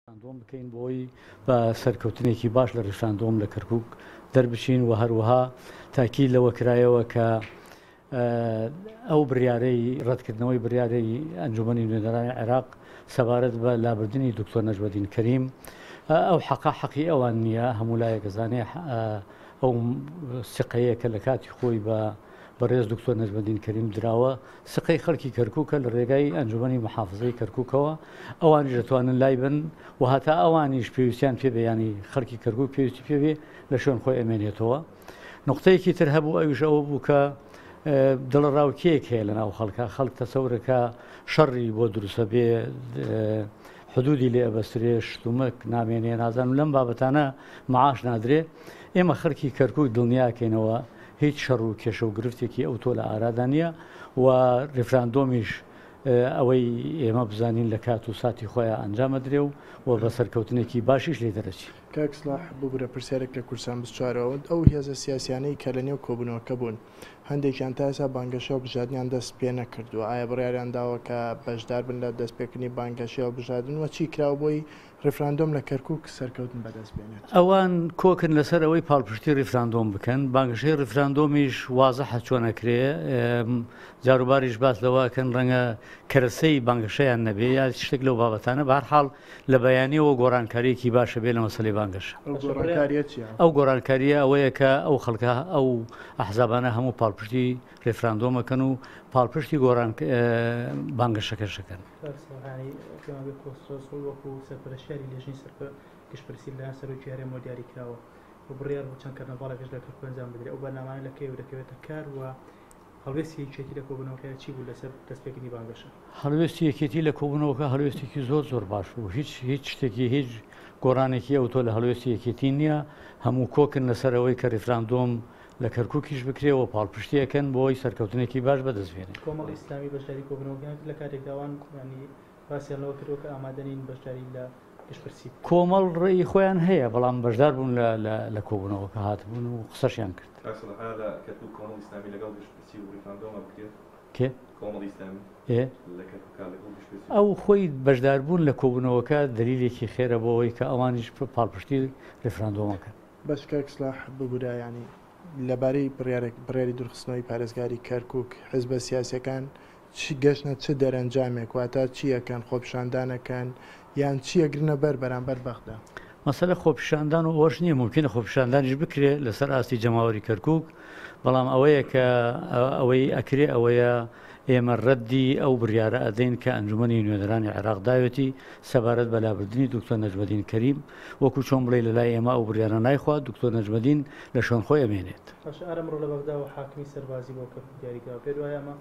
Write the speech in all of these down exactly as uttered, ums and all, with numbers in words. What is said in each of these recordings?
ریفراندۆم بکەین بۆی بە سەرکەوتنێکی باش لە ریفراندۆم لە کەرکوک دەربچین و هەروەها تاکید لەوە کرایەوە کە ئەو بڕیارەی ڕەتکردنەوەی بڕیارەی ئەنجومەنی نوێنەرانی عێراق سەبارەت بە لابردنی دکتۆر نەجمەدین کەریم ئەو حەقا حەقی ئەوان نییە. هەموو لایەک ئەزانێ ئەو سقەیە کە لە کاتی خۆی بە بەڕێز دکتۆر نەجمەدین کەریم دراوە سقەی خەڵکی کەرکووکە لە ڕێگای ئەنجومەنی محافزەی کەرکووکەوە، ئەوانیش دەتوانن لای بن و هەتا ئەوانیش پێویستیان پێبێ، ینی خەڵکی کەرکووک پێویستی پێبێ لە شوێن خۆی ئەمێنێتەوە. نقطەیەکی تر هەبوو ئەویش ئەوە بوو کە دڵەڕاوکێک هەیە لە ناو خەڵکە، خەڵک تەسەورەکە شەڕی بۆ دروستە بێ، حدودی لێ ئەبەسترێ، شتومەک نامێنێ، نازانم لەم بابەتانە معاش نادرێ. ئێمە خەڵکی کەرکووک دڵنیاکەینەوە هیچ شەڕ و کێشە و گرفتێکی ئەو تۆ لە ئارادا نییە و ریفراندۆمیش ئەوەی ئێمە بزانین لە کات و ساتی خۆیان ئەنجامە درێ و و بە سەرکەوتنێکی باشیش لێ دەرەچی. کاک سڵاح ببورە پرسیارێک لە کوردستان بچوارەوە. ئەو هێزە سیاسیانەی کە لە نێو کۆبوونەوەکە بوون هەندێکیان تا ئێستا بانگەشە هەڵبژاردنیان دەست پێ نەکردووە، ئایا بڕیاریان داوە کە بەشدار بن لە دەستپێکردنی بانگەشەی هەڵبژاردن و چی کراوە بۆی ڕیفراندۆم لە کەرکووک سەرکەوتن بەدەست بێنێت؟ ئەوان کۆکن لەسەر ئەوەی پاڵپشتی ڕیفراندۆم بکەن. بانگەشەی ڕیفراندۆمیش وازحە چۆن ئەکرێ، جاروباریش باس لەوەکەن ڕەنگە کەرەسەی بانگەشەیان نەبێ یا شتێک لەو بابەتانە. بەهەرحاڵ لە بەیانیەوە گۆڕانکاریەکی باشە بێ لە مەسەلەی بانگەشە. ئەو گۆڕانکاریە چییە؟ ئەو گۆڕانکاریە ئەوەیە کە ئەو خەڵکە ئەو ئەحزابانە هەموو پاڵپشتی ڕیفراندۆمەکەن و پاڵپشتی گۆڕان بانگەشەکەشەکەن. سەرپەرشتیاری لێژنەی گشتپرسی لەلایەن سەرۆکی هەرێمەوە دیاری کراوە و بڕیار بوو چەند کەرنەڤاڵێکش لە کەرکوک ئەنجام بدرێت. ئەو بەرنامانە لە کەیەوە دەکەوێتە کار و هەڵوێستی یەکێتی لە کۆبوونەوەکە چی بوو لەسەر دەستپێکردنی بانگەشە؟ هەڵوێستی یەکێتی لە کۆبوونەوەکە هەڵوێستێکی زۆر زۆر باش بوو. هیچ هیچ شتێکی هیچ گۆڕانێکی ئەوتۆ لە هەڵوێستی یەکێتی نییە. هەموو کۆکن لەسەر ئەوەی کە ڕیفراندۆم لە کەرکووکیش بکرێ و پاڵپشتیەکەن بۆی سەرکەوتنێکی باش بەدەست بێنێ. کۆمەڵی ئیسلامی بەشداری کۆبوونەوەکان لە کاتێکدا ئەوان ینی باسیان لەوە کردووە کە ئامادە نین بەشداری لە گشتپرسی بکەن. کۆمەڵ ڕێی خۆیان هەیە بەڵام بەشدار بوون لە کۆبوونەوەکە هاتبوون و قسەشیان کرد. کاک سڵاح لە کەرکووک کۆمەڵی ئیسلامی لەگەڵ گشتپرسی و ڕیفراندۆمە بکرێت؟ کێ؟ کۆمەڵی ئیسلامی ئێ لە کەرکووک لەگەڵ گشتپرسی. ئەو خۆی بەشداربوون لە کۆبوونەوەکە دلیلێکی خێرە بۆ ئەوەی کە ئەوانیش پاڵپشتی ڕیفراندۆمەکەن. بەس کاک سڵاح ببورە، ینی لەبارەی بڕیاری دوورخستنەوەی پارێزگاری کەرکووک حزبە سیاسیەکان چی گەشتنە چ دەرەنجامێک، واتە چیەکەن، خۆپیشاندانەکەن یان چیەگرنە بەر بەرامبەر بەغدا؟ مەسەلە خۆپیشاندان و ئەوەش نییە، ممکنە خۆپیشاندانیش بکرێ لەسەر ئاستی جەماوەری کەرکووک، بەڵام ئەوەیە کە ئەوەی ئەکرێ ئەوەیە ئێمە ڕەدی ئەو بڕیارە ئەدەین کە ئەنجومەنی نوێنەرانی عێراق داوێتی سەبارەت بە لابردنی دکتۆر نەجمەدین کەریم. وەکو چۆن بڵێ لە لای ئێمە ئەو بڕیارە نایخوا، دکتۆر نەجمەدین لە شوێن خۆی ئەمێنێت. باشە، ئارەمڕۆ لە بەغداوە حاکمی سەربازی بۆ کەرکوک دیاری کراوە، پێت وایە ئەمە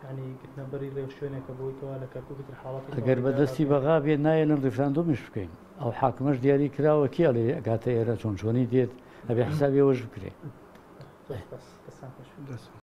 ینی گرتنەبەری ڕێوشوێنێکە بۆی کەوا لە کەرکوکی تر حاڵەتی ئەگەر بەدەستی بەغا بێت نایەنن ڕیفراندۆمیش بکەین. ئەو حاکمەش دیاری کراوە کێ ئەڵێ ئەگاتە ئێرە چۆن چۆنی دێت، ئەبێ حسابی ئەوەش بکرێ. زۆر سپاس. دەستان خۆش.